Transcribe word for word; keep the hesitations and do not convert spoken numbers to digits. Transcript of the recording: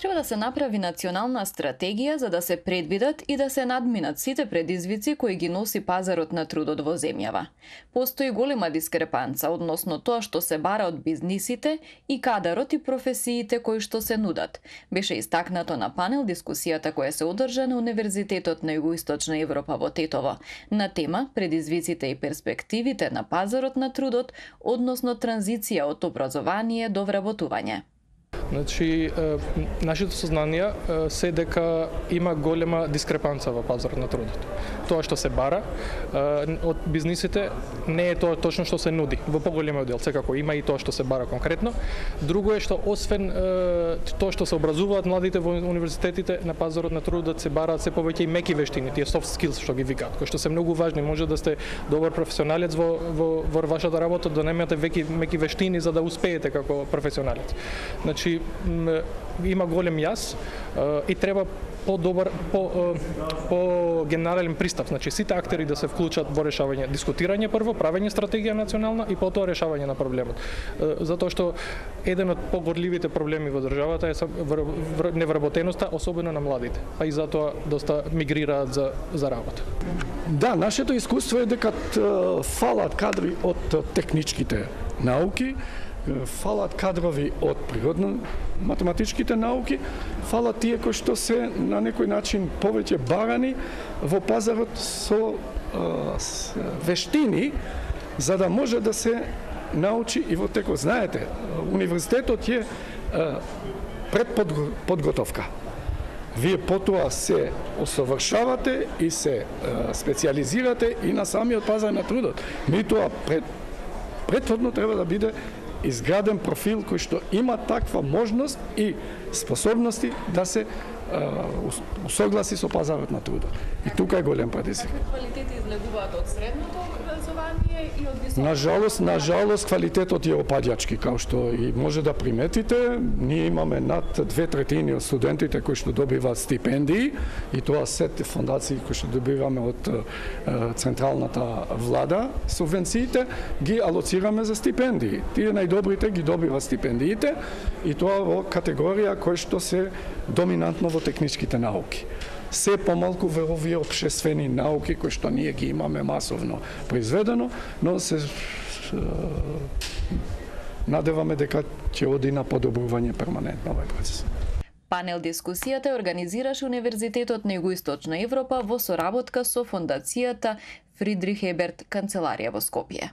Треба да се направи национална стратегија за да се предвидат и да се надминат сите предизвици кои ги носи пазарот на трудот во земјава. Постои голема дискрепанца односно тоа што се бара од бизнисите и кадарот и професиите кои што се нудат. Беше истакнато на панел дискусијата која се одржа на Универзитетот на Југоисточна Европа во Тетово на тема предизвиците и перспективите на пазарот на трудот, односно транзиција од образование до вработување. Значи, нашето сознание се дека има голема дискрепанца во пазарот на трудот. Тоа што се бара од бизнисите не е тоа точно што се нуди. Во поголемиот дел секако има и тоа што се бара конкретно. Друго е што освен тоа што се образуваат младите во универзитетите, на пазарот на трудот се бараат се повеќе и меки вештини, тие soft skills што ги викаат, кои што се многу важни. Може да сте добар професионалец во во, во вашата работа, да немате веки меки вештини за да успеете како професионалец. Значи, има голем јас и треба по-добар, по, по генерален пристап. Значи, сите актери да се вклучат во решавање, дискутирање прво, правење стратегија национална и потоа решавање на проблемот. Затоа што еден од погорливите проблеми во државата е невработеноста, особено на младите, а и затоа доста мигрираат за, за работа. Да, нашето искуство е дека фалат кадри од техничките науки, фалат кадрови од природно-математичките науки, фалат тие кои што се на некој начин повеќе барани во пазарот со, с вештини, за да може да се научи и во текот. Знаете, универзитетот е предподготовка. Вие потоа се усовршавате и се специализирате и на самиот пазар на трудот. Меѓутоа пред претходно треба да биде изграден профил кој што има таква можност и способности да се усогласи со пазарот на трудот. И тука е голем предизвик. Квалитети излегуваат од средното образование и од високото. На жалост, на жалост квалитетот е опаѓачки, као што и може да приметите. Ние имаме над две третини од студентите кои што добиваат стипендии и тоа сите фондации кои што добиваме од централната влада, субвенциите ги алоцираме за стипендии. Тие најдобрите ги добиваат стипендиите и тоа во категорија кои што се доминантно во техничките науки. Се помалку во овие општествени науки кои што ние ги имаме масовно произведено, но се надеваме дека ќе оди на подобрување перманентно овој процес. Панел дискусијата организираше Универзитетот на Југоисточна Европа во соработка со Фондацијата Фридрих Еберт канцеларија во Скопје.